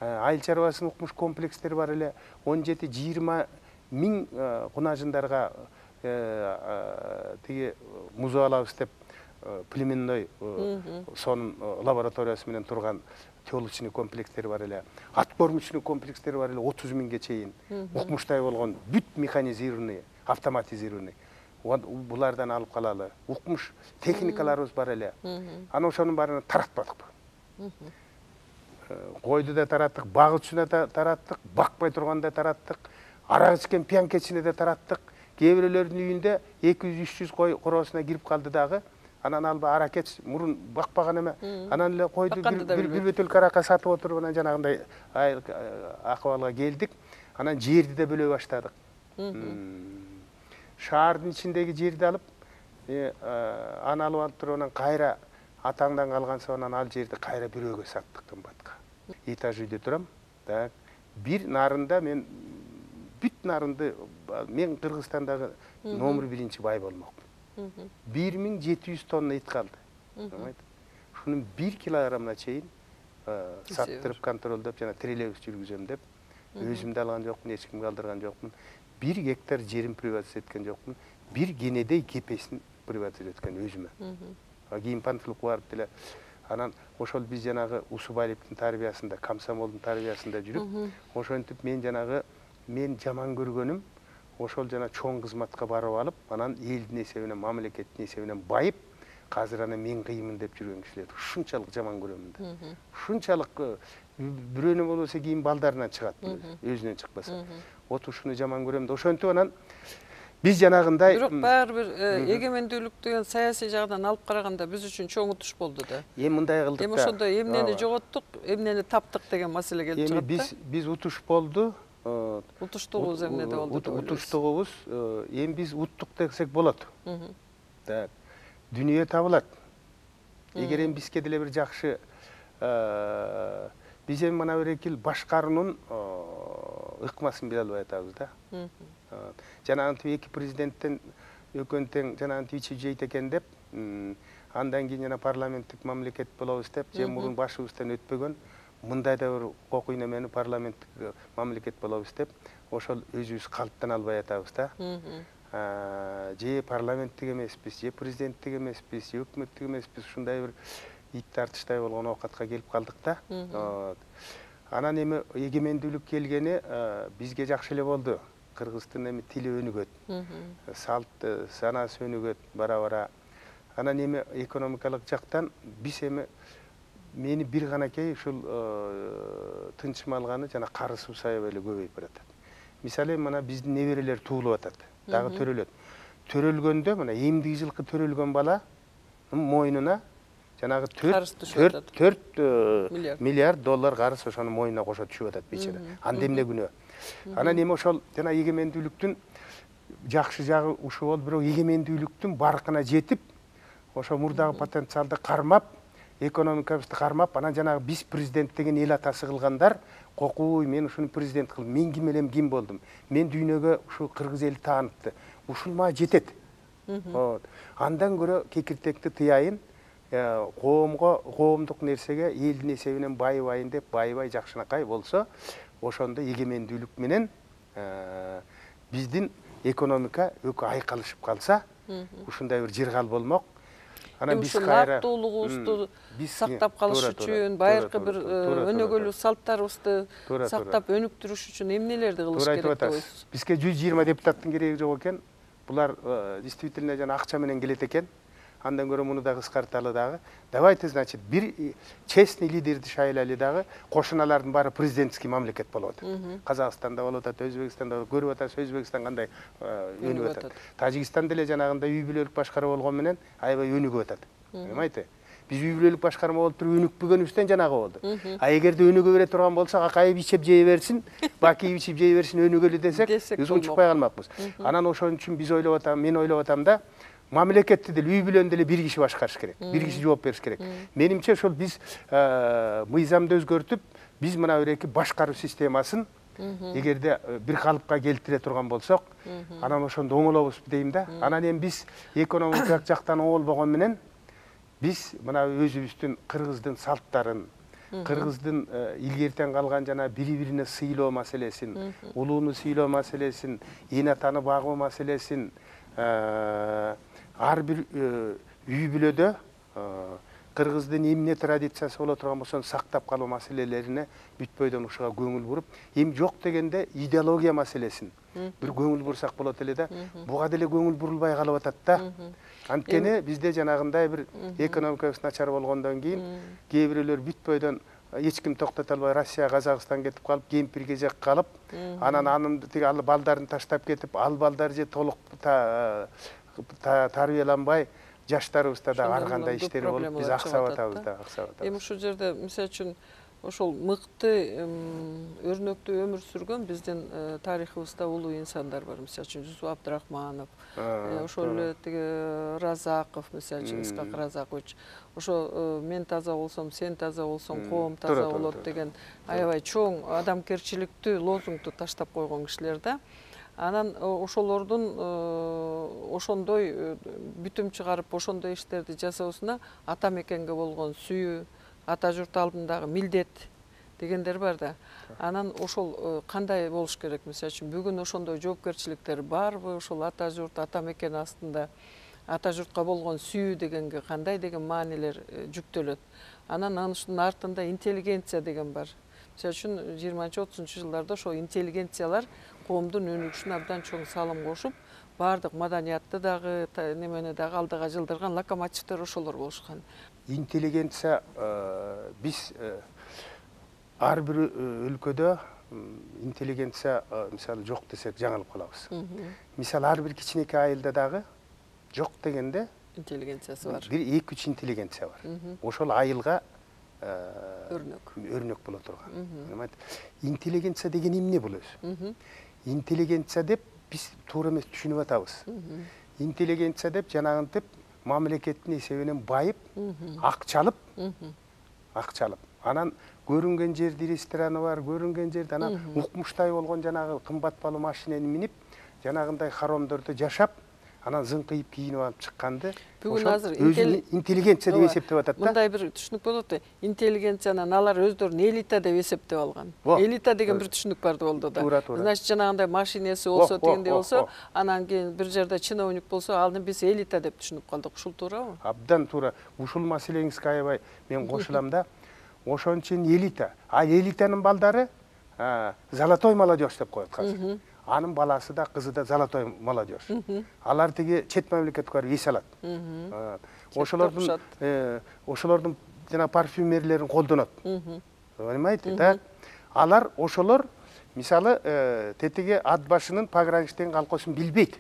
Айыл чарбасынын укмуш комплекстери бар эле, 17-20 миң кунажындарга тиги музей алабыз деп племенной сонун лабораториясы менен турган теолочный комплекстери бар эле, ат кормучный комплекстери бар эле, 30 миңге чейин укмуштай болгон, бүт механизированный, автоматизированный. булардан алып калалы. Укмуш техникаларыбыз бар эле. Ана ошонун баарын таратпадык. Койду да тараттык, багычына да тараттык, бакпай турганда тараттык, арак ичкен пьянкечине да тараттык. Кээ бирөөлөрдүн үйүндө 200-300 кой короосуна кирип калды дагы. Анан алба аракет мурун бакпаган эме. Анан эле койду бир бөтөлкө аракка сатып отуруп анан жанагындай акыбалга келдик. Анан жерди да бөлө баштадык. Шаардын ичиндеги жерди алып, аны алып туруп анан кайра атаңдан калган соң анан ал жерди кайра бирөөгө саттык кымбатка. Этаж үйдө турам. Так, бир нарында мен бүт нарынды мен Кыргызстандагы номер 1 бай болмокмун. 1700 тонна ит калды. Шунун 1 килограммына чейин саттырып контролдоп жана трелебус жүргүзөм деп өзүм да алган жокмун, эч кимге алдырган жокмун. 1 гектар жерин приватизация эткен жокмун. 1 кенедей кепесин приватизация эткен өзүмө. Кийин Панфиловго барып деле анан ошол биз жанагы Усубаевдин тарбиясында, комсомолдун тарбиясында жүрүп, ошентип мен жанагы мен жаман көргөнүм ошол жана чоң кызматка барып алып, анан элдин эсебинен, мамлекеттин эсебинен байып, азыр аны мен кыймын деп жүргөн кишилерди ушунчалык жаман көрөмүн да. Ушунчалык бирөөнө болбосо кийин балдарынан чыгат, өзүнөн чыкпаса. Вот ушуну жаман көрөм да. Ошентип анан биз жанагындай
бирок баары бир эгемендүүлүктү саясий жагдан алып караганда биз үчүн чоң утуш болду да.
Эми мындай кылдык да.
Эми ошондо эмнени жоготтук, эмнени таптык деген маселе келип чыгат да.
Эми биз утуш болду.
Утуштугубуз эмнеде болду деп ойлойсуз?
Утуштугубуз эми биз уттук десек болот. Так. Дүнүйө табылат. Эгер эми бизге деле бир жакшы биз эми мына бир эки башкаруунун ыкмасын биле албай атабыз да. Жанагынтип эки президенттен экөөнү тең жанагынтип ичип жейт экен деп, андан кийин жана парламенттик мамлекет болобуз деп, же мурун башыбыздан өтпөгөн мындай да бир кокуй немени парламенттик мамлекет болобуз деп, ошол өзүбүз калыптан албай атабыз да. Же парламенттик эмеспиз, же президенттик эмеспиз, же өкмөттүк эмеспиз, ушундай бир ит тартыштай болгон оокатка келип калдык да. Анан эми эгемендүүлүк келгени бизге жакшы эле болду. Кыргыздын эми тили өнүгөт, салт санаасы өнүгөт бара-бара. Анан эми экономикалык жактан биз эми мени бир ганакей ушул тынчым алганы жана карысыбыз аябай эле көбөйүп баратат. Мисалы мына биздин неберелер туулуп атат, дагы төрөлөт. Төрөлгөндө мына эмдиги жылкы төрөлгөн бала мойнуна жанагы 4 миллиард доллар карыз ошонун мойнуна кошо түшүп атат бечара. Анда эмне күнөө? Анан эми ошол жана эгемендүүлүктүн жакшы жагы ушул болду, бирок эгемендүүлүктүн баркына жетип, ошо мурдагы потенциалды кармап, экономикабызды кармап, анан жанагы биз президент деген эл атасы кылгандар, кокуй мен ушуну президент кылдым, мен ким элем, ким болдум, мен дүйнөгө ушул кыргыз эли таанытты, ушул мага жетет. Андан көрө кекиртекти тыяйын, коомдук нерсеге элдин эсебинен байыбайын деп, байыбай жакшынакай болсо, ошондо эгемендүүлүк менен биздин экономика өкө айкалышып калса, ушундай бир жыргал болмок. Анан биз кайра
нактуулугубузду сактап калыш үчүн, байыркы бир өнөгөлүү салттарыбызды сактап өнүктүрүш үчүн эмнелерди кылыш керек деп ойлойсуз?
Бизге 120 депутаттын кереги жок экен. Булар действительно жана акча менен келет экен. Андан көрө муну да кыскарталы дагы. Давайте, значит, бир честный лидерди шайлайлы дагы, кошуналардын баары президентский мамлекет болот. Казакстанда болот, Өзбекстанда көрүп атабыз, Өзбекстан кандай өнүгүп атат. Тажикстан деле жанагындай үй бүлөлүк башкаруу болгон менен аябай өнүгүп атат. Эметти? Биз үй бүлөлүк башкарма болуп туруп өнүкпөгөнүбүздөн жанагы болду. Эгерде өнүгө бере турган болсок, акайып ичип жей берсин, бакип ичип жей берсин өнүгөлү десек, биз унчукпай калмакпыз. Анан ошон үчүн биз ойлоп атам, мен ойлоп атам да, мамлекетти деле үй бүлөнү деле бир киши башкарыш керек, бир киши жооп бериш керек. Менимче ошол биз мыйзамды өзгөртүп, биз мына бир эки башкаруу системасын эгерде бир калыпка келтире турган болсок, анан ошондо оңолобуз дейм да. Анан эми биз экономикалык жактан оңолбогон менен биз мына өзүбүздүн кыргыздын салттарын, кыргыздын илгертен калган жана бири-бирине сыйлоо маселесин, улууну сыйлоо маселесин, эн атаны багуу маселесин, ар бир үй бүлөдө кыргыздын эмне традициясы боло турган болсо сактап калуу маселелерине бүтпөйдөн ушуга көңүл буруп, эми жок дегенде идеология маселесин, бир көңүл бурсак болот эле да. Буга деле көңүл бурулбай калып атат да. Анткени бизде жанагындай бир экономикабыз начар болгондон кийин кээ бирөөлөр бүт бойдон эч ким токтото албай Россия, Казакстан кетип калып, кемпир кезек калып, анан тиги ал балдарын таштап кетип, ал балдар же толук тарбияланбай, жаштарыбызда да ар кандай иштер болуп, биз аксап атабыз да, аксап атабыз.
Эми ушул жерде мисалы үчүн ошол мыкты өрнөктүү өмүр сүргөн биздин тарыхыбызда улуу инсандар бар. Мисалы үчүн Жусуп Абдрахманов, ошол эле тиги Разаков, мисалы үчүн Исхак Разакович. Ошо мен таза болсом, сен таза болсоң, коом таза болот деген аябай чоң адамгерчиликтүү лозунгду таштап койгон кишилер да. Анан ошолордун ошондой бүтүм чыгарып, ошондой иштерди жасоосуна ата мекенге болгон сүйүү, ата журт алдындагы милдет дегендер бар да. Анан ошол кандай болуш керек? Мисалы үчүн бүгүн ошондой жоопкерчиликтер барбы? Ошол ата журт, ата мекен астында ата журтка болгон сүйүү дегенге кандай деген маанилер жүктөлөт? Анан анын артында интеллигенция деген бар. Мисалы үчүн 20-30 жылдарда ошо интеллигенциялар коомдун өнүгүшүнө абдан чоң салым кошуп, баардык маданиятты дагы, немени дагы алдыга жылдырган локомотивдер ошолор болушкан.
Интеллигенция биз ар бир өлкөдө интеллигенция мисалы жок десек жаңылып калабыз. Мисалы ар бир кичинекей айылда дагы жок дегенде
интеллигенциясы бар.
Бир 2-3 интеллигенция бар. Ошол айылга өрнөк боло турган. Интеллигенция деген эмне бул өзү? Интеллигенция деп биз туура эмес түшүнүп атабыз. Интеллигенция деп жанагынтип мамлекеттин эсебинен байып, акчалып, анан көрүнгөн жерде рестораны бар, көрүнгөн жерде анан укмуштай болгон жанагы кымбат баалуу машинени минип, жанагындай хоромдордо жашап, анан зыңкыйып кийинип алып чыкканды
бүгүн азыр
интеллигенция деп эсептеп атат да.
Мындай бир түшүнүк болот. Интеллигенциянын алар өздөрүн элита деп эсептеп алган. Элита деген бир түшүнүк бар болду да. Значит, жанагындай машинеси болсо, дегендей болсо, анан кийин бир жерде чиновник болсо, аны биз элита деп түшүнүп калдык. Ушул туурабы?
Абдан туура. Ушул маселеңизге аябай мен кошулам да. Ошон үчүн элита. А элитанын балдары золотой молодежь деп коет азыр. Анын баласы да, кызы да золотой молодежь. Алар тиги чет мамлекетке барып эс алат. Ошолордун жана парфюмерлерин колдонот. Понимаете, да? Алар ошолор мисалы тетиги ат башынын пограничтен калкоосун билбейт.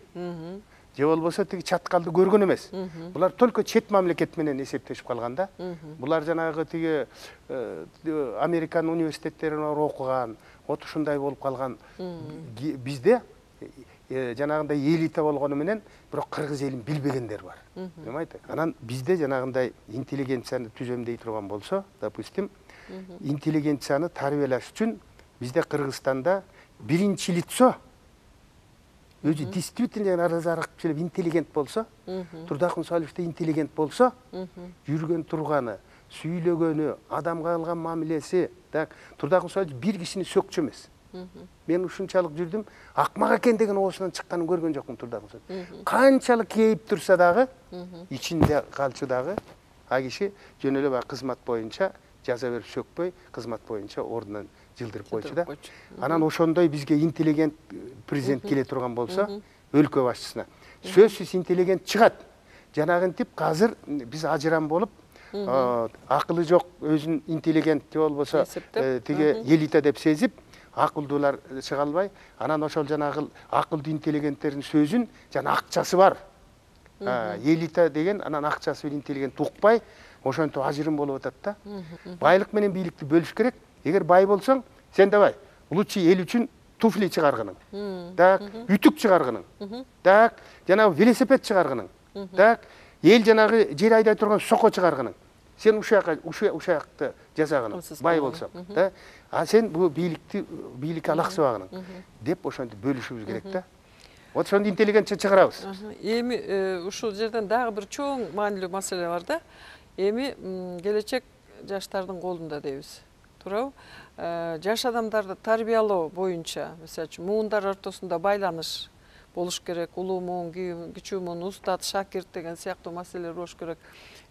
Же болбосо тиги чаткалды көргөн эмес. Булар только чет мамлекет менен эсептешип калган да. Булар жанагы тиги Американ университеттерине окуган, ушундай болуп калган. Бизде жанагындай элита болгону менен бирок кыргыз элин билбегендер бар. Понимаете? Анан бизде жанагындай интеллигенцияны түзөм дей турган болсо, допустим, интеллигенцияны тарбиялаш үчүн бизде Кыргызстанда биринчи лицо өзү действительно разарак келип интеллигент болсо, Турдакын Салихович интеллигент болсо, жүргөн турганы, сүйлөгөнү, адамга кылган мамилеси, так, Турдакын Салихович бир кишини сөкчү эмес. Мен ушунчалык жүрдүм, акмак экен деген оосунан чыкканын көргөн жокмун Турдакын Салихович. Канчалык кейип турса дагы, ичинде калчу дагы, а киши жөн эле баягы кызмат боюнча жаза берип сөкпөй, кызмат боюнча ордунан жылдырып койчу да. Анан ошондой бизге интеллигент президент келе турган болсо, өлкө башчысына сөзсүз интеллигент чыгат. Жанагынтип азыр биз ажырам болуп, акылы жок, өзүн интеллигент же болбосо тиги элита деп сезип, акылдуулар чыга албай, анан ошол жанагы акылдуу интеллигенттердин сөзүн жана акчасы бар. Элита деген анан акчасы менен интеллигент укпай, ошентип ажырым болуп атат да. Байлык менен бийликти бөлүш керек. Эгер бай болсоң, сен давай, лучше эл үчүн туфли чыгаргының. Так, ütүк чыгаргының. Так, жанагы велосипед чыгаргының. Так, эл жанагы жер айдай турган соко чыгаргының. Сен ушакты жасагының, бай болсоң, да? А сен бул бийликке алаксыбагының деп ошентип бөлүшүбүз керек да. Вот ошондо интеллигентче чыгарабыз.
Эми ушул жерден дагы бир чоң маанилүү маселе бар да. Эми келечек жаштардын колунда дейбиз. Туурабы? Жаш адамдарды тарбиялоо боюнча, мисалы үчүн муундар ортосунда байланыш болуш керек, улуу муун, кичүү муун, устат, шакирт деген сыяктуу маселелер болуш керек.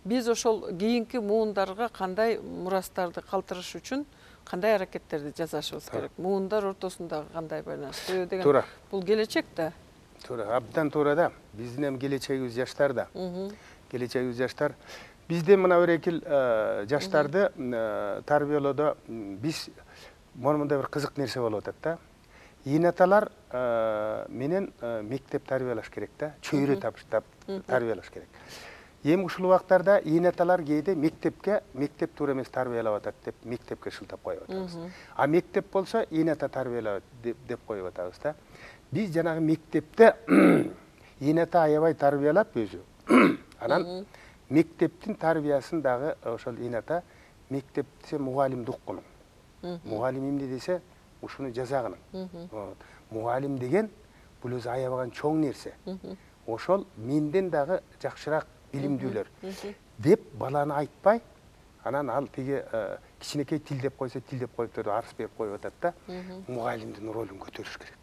Биз ошол кийинки муундарга кандай мурастарды калтырыш үчүн кандай аракеттерди жасашыбыз керек? Муундар ортосундагы кандай байланыш деген
туура.
бул келечек да.
Туура, абдан туура да. Биздин эми келечегибиз жаштар да. Келечегибиз жаштар. Бизде мына берекил жаштарды тарбиялоодо биз мындай бир кызык нерсе болуп атат да. Ийнаталар менен мектеп тарбиялаш керек да. Чөйрө таптап тарбиялаш керек. Эми ушул убактарда ийнаталар кээде мектеп туура эмес тарбиялап атат деп мектепке шылтап коюп атабыз. А мектеп болсо ийната тарбиялап деп коюп атабыз да. Биз жанагы мектепте ийната аябай тарбиялап өзү. Анан мектептин тарбиясын дагы ошол ийната мектепте мугалимди уккунуң. Мугалим эмне десе ушуну жазагының. Мугалим деген бул өзү аябаган чоң нерсе. Ошол менден дагы жакшыраак билимдүүлөр деп баланы айтпай, анан ал тиги кичинекей тил деп койсо тил деп коюп турду, арыз берип коюп атат да. Мугалимдин ролун көтөрүш керек.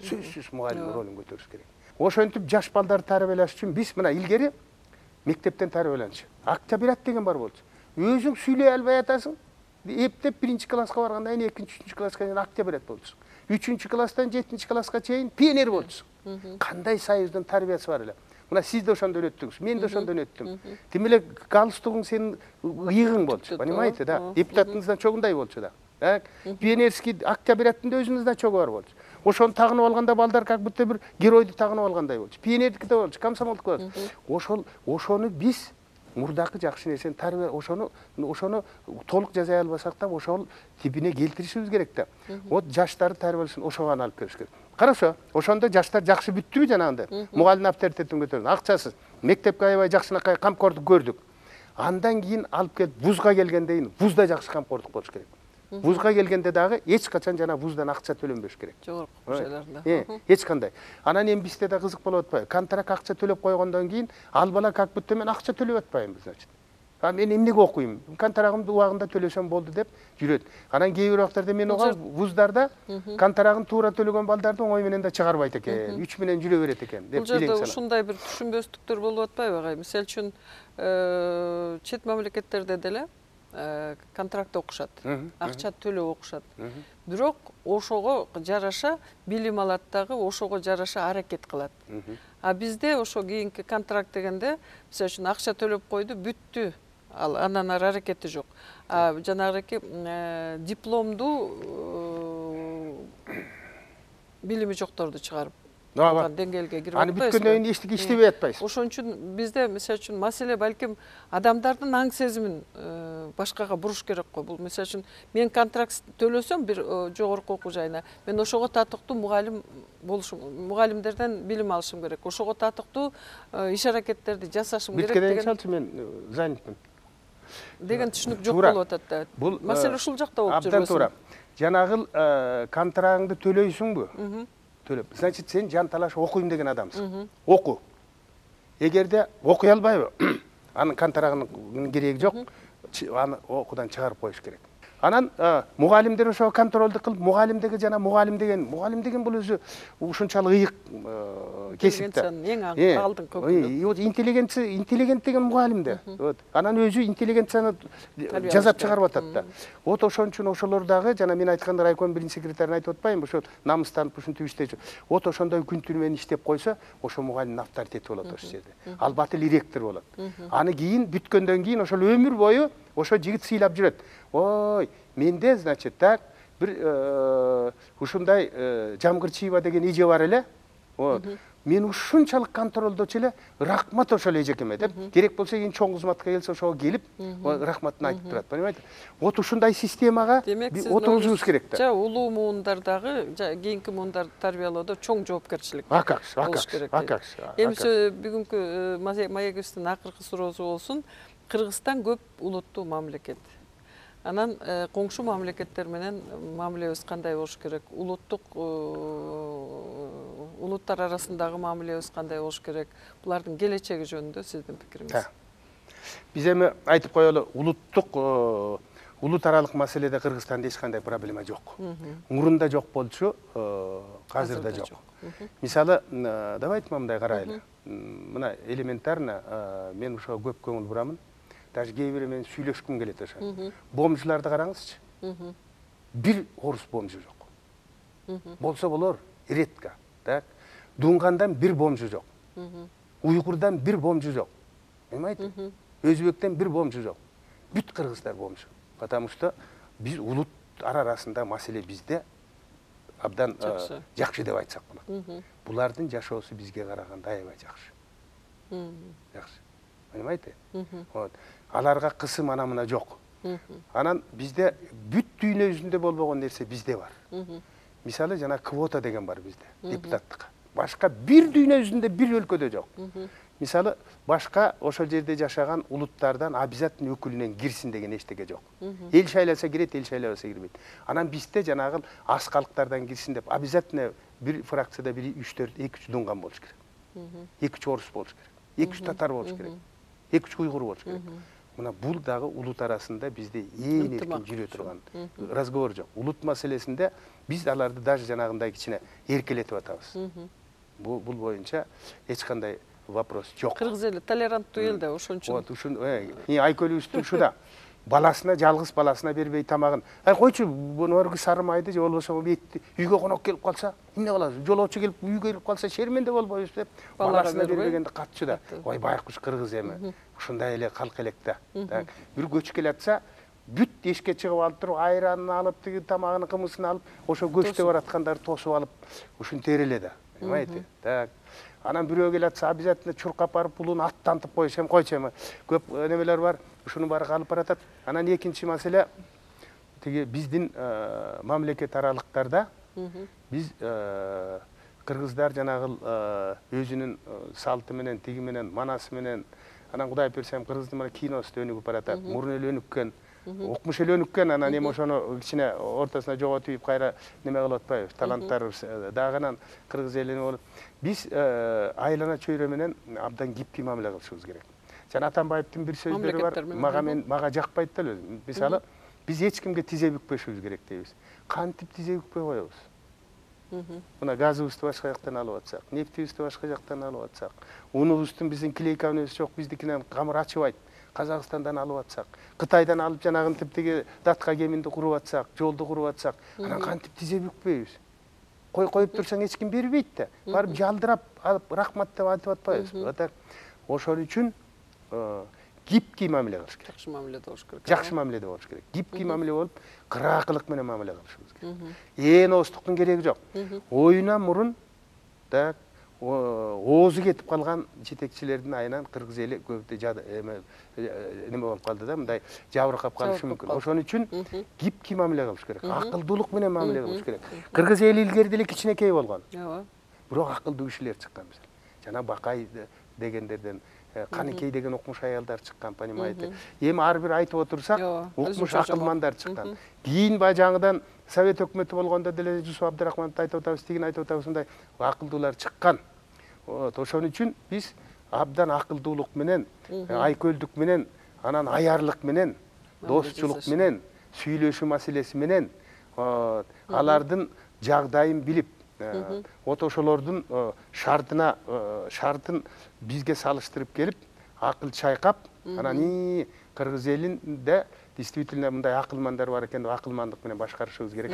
Сөзсүз мугалимдин ролун көтөрүш керек. Ошентип жаш балдарды тарбиялаш үчүн биз мына илгери мектептен тарбияланчу. Октябрят деген бар болчу. Өзүң сүйлөй албай атасың. Эптеп 1-чи класска баргандан кийин 2-чи, 3-чү класска чейин октябрят болчусуң. 3-чү класстан 7-чи класска чейин пионер болчусуң. Кандай союздун тарбиясы бар эле. Мына сиз да ошондон өттүңүз, мен да ошондон өттүм. Тим эле галстугуң сенин ыйыгың болчу, понимаете да? Депутатыңыздан чогундай болчу да. Пионерский октябряттын да өзүнүн чогу бар болчу. Ошону тагынып алганда балдар как будто бир геройду тагынып алгандай болчу. Пионердики да болчу, комсомолдук болчу. Ошону биз мурдакы жакшы нерсени тарбия, ошону толук жаза албасак да, ошол типине келтиришибиз керек да. Вот жаштарды тарбиялашын ошого алып келиш керек. Карашо, ошондо жаштар жакшы бүттүбү жанагындай? Мугалимдин авторитетин көтөрдү. Акчасыз. Мектепке аябай жакшынакай камкордук көрдүк. Андан кийин алып келип вузга келгенден кийин вузда жакшы камкордук болуш керек. Вузга келгенде дагы эч качан жана вуздан акча төлөнбөш керек.
Жогорку жайларында.
Эч кандай. Анан эми бизде да кызык болуп атпайбы? Контракт акча төлөп койгондон кийин ал бала как будто мен акча төлөп атпаймынбы, значит. Мен эмнеге окуйм? Контрагымды убагында төлөсөм болду деп жүрөт. Анан кээ бир убактарда мен ого вуздарда контрагын туура төлөгөн балдарды оңой менен да чыгарбайт экен, 3 менен жүрө берет экен деп билем.
Бул жерде ушундай бир түшүнбөстүктөр болуп атпайбы агай? Мисалы үчүн чет мамлекеттерде деле контракт окушат, акча төлөп окушат. Бирок ошого жараша билим алат дагы, ошого жараша аракет кылат. А бизде ошо кийинки контракт дегенде, мисалы үчүн акча төлөп койду, бүттү. Андан ары аракети жок. Жанагы дипломду билими жокторду чыгарып деңгээлге кирип
атпайсызбы? Аны бүткөндөн кийин эчтеке иштебей атпайсыз.
Ошон үчүн бизде мисалы үчүн маселе балким адамдардын аң сезимин башкага буруш керек го. Бул мисалы үчүн мен контракт төлөсөм бир жогорку окуу жайына, мен ошого татыктуу мугалим болушум, мугалимдерден билим алышым керек. Ошого татыктуу иш аракеттерди жасашым керек
деген. Мисалы мен занятмын
деген түшүнүк жок болуп атат да. Бул маселе ушул жакта болуп жүрөбүз.
Абдан туура. Жанагыл контрагыңды төлөйсүңбү? Төлөп. Значит, сен жан талаш окуйм деген адамсың. Оку. Эгерде окуй албайбы, анын контрагынын кереги жок, аны окуудан чыгарып коюш керек. Анан мугалимдер ошо контролду кылып, мугалим деген бул өзү ушунчалык ыйык кесип да.
Эң алдыңкы көпүнө.
Интеллигент деген мугалимде. Анан өзү интеллигенцияны жазап чыгарып атат да. Вот ошон үчүн ошолор дагы жана мен айтканда райком биринчи секретарин айтып атпаймынбы, ошо намыстанып ушинтип иштечү. Вот ошондой күн түнү менен иштеп койсо, ошо мугалимдин авторитети болот ошол жерде. Албаты эле ректор болот. Аны кийин бүткөндөн кийин ошол өмүр бою ошо жигит сыйлап жүрөт. Ой, менде, значит, так, бир ушундай Жамгырчиева деген эже бар эле. Мен ушунчалык контролдочу эле, рахмат ошол эжекеме деп, керек болсо кийин чоң кызматка келсе ошого келип, рахматын айтып турат, понимаете? Вот ушундай системага отургузубуз керек да.
Улуу муундардагы, кийинки муундарды тарбиялоодо чоң жоопкерчилик болуш керек. Эми бүгүнкү маегибиздин акыркы суроосу болсун. Кыргызстан көп улуттуу мамлекет. Анан коңшу мамлекеттер менен мамилебиз кандай болуш керек? Улуттар арасындагы мамилебиз кандай болуш керек? Булардын келечеги жөнүндө сиздин пикириңиз?
Биз эми айтып коелу, улут аралык маселеде Кыргызстанда эч кандай проблема жок. Мурунда жок болчу, азыр да жок. Мисалы, давайте мындай карайлы. Мына элементарно мен ошого көп көңүл бурамын. Даже кээ бирөө менен сүйлөшкүм келет ошо. Бомжларды караңызчы. бир орус бомжу жок. Болсо болор, редко. Так. Дунгандан бир бомжу жок. Уйгурдан бир бомжу жок. Понимаете? Өзбектен бир бомжу жок. Бүт кыргыздар бомжу. Потому что биз улут арасында маселе бизде абдан жакшы деп айтсак болот. Булардын жашоосу бизге караганда аябай жакшы. Жакшы. Понимаете? Вот. Аларга кысым ана мына жок. Анан бизде бүт дүйнө жүзүндө болбогон нерсе бизде бар. Мисалы жана квота деген бар бизде, депутаттыкка. Башка бир дүйнө жүзүндө бир өлкөдө жок. Мисалы башка ошол жерде жашаган улуттардан обязательно өкүлүнөн кирсин деген эчтеке жок. Эл шайласа кирет, эл шайлабаса кирбейт. Анан бизде жанагы аз калктардан кирсин деп обязательно бир фракцияда бир 3-4 2-3 дунган болуш керек. 2-3 орус болуш керек. 2-3 татар болуш керек. 2-3 уйгур болуш керек. Мына бул дагы улут арасында бизде эң эркин жүрө турган разговор жок. Улут маселесинде биз аларды даже жанагындай кичине эркелетип атабыз. Бул боюнча эч кандай вопрос жок.
Кыргыз эли толеранттуу эл да ошон үчүн.
Вот, ушун айкөлүбүздүн ушуда. Баласына, жалгыз баласына бербей тамагын. Койчу, норги сары майды же болбосо этти үйгө конок келип калса, эмне кыласыз? Жолоочу келип үйгө келип калса шерменде болбойбуз деп баласына бербегенде катчу да. Ой, байкуш кыргыз эми. Ушундай эле калк элек да. Бир көч келатса, бүт эшикке чыгып алып туруп, айранын алып, тиги тамагынын кымысын алып, ошо көчтө бараткандарды тосуп алып, ушинтер эле да. Понимаете? Так. Анан бирөө келатса, обязательно чуркап барып, булун аттантып коюш, койчу эми. Көп немелер бар, ушунун баары калып баратат. Анан экинчи маселе, тиги биздин мамлекет аралыктарда биз кыргыздар жанагы өзүнүн салты менен, тиги менен, манасы менен, анан Кудай берсе кыргыздын мына киносу өнүгүп баратат. Мурун эле өнүккөн, окмуш эле өнүккөн, анан эми ошону кичине ортосуна жоготуп кайра неме кылып атпайбыз. Таланттар дагы анан кыргыз элине болуп. Биз айлана чөйрө менен абдан кипки мамиле кылышыбыз керек. Жана Атамбаевдин бир сөздөрү бар, мага жакпайт да эле. Мисалы, биз эч кимге тизе бүкпөшүбүз керек дейбиз. Кантип тизе бүкпөй коебуз? Мына газыбызды башка жактан алып атсак, нефтибизди башка жактан алып атсак, унубуздун биздин клейкабыз жок, биздикинен камыр ачыбайт. Казакстандан алып атсак, Кытайдан алып жанагын типтеги датка кеминди куруп атсак, жолду куруп атсак, анан кантип тизе бүкпөйбүз? Коюп турсаң эч ким бербейт да. Барып жалдырап алып рахмат деп айтып атпайбыз. Ошол үчүн гибкий мамиле кылыш керек.
Жакшы мамиледе болуш керек.
Жакшы мамиледе болуш керек. Гибкий мамиле болуп, кыраакылык менен мамиле кылышыбыз керек. Ооздуктун кереги жок. Оюна мурун так оозу кетип калган жетекчилердин айынан кыргыз эли көбү неме болуп калды да, мындай жабыркап калышы мүмкүн. Ошон үчүн гибкий мамиле кылыш керек. Акылдуулук менен мамиле кылыш керек. Кыргыз эли илгери деле кичинекей болгон. Бирок акылдуу кишилер чыккан. Жана Бакай дегендерден Каныкей деген окмуш аялдар чыккан, понимаете. Эми ар бир айтып отурсак, окмуш акылмандар чыккан. Кийин баягы жаңыдан Совет өкмөтү болгондо деле Жусуп Абдрахмановду айтып атабыз, тигин айтып атабыз, мындай акылдуулар чыккан. Ошон үчүн биз абдан акылдуулук менен, айкөлдүк менен, анан аярлык менен, достчулук менен, сүйлөшүү маселеси менен алардын жагдайын билип, ошолордун шартын бизге салыштырып келип, акыл чайкап, анан кыргыз элинде действительно мындай акылмандар бар экен деп акылмандык менен башкарышыбыз керек.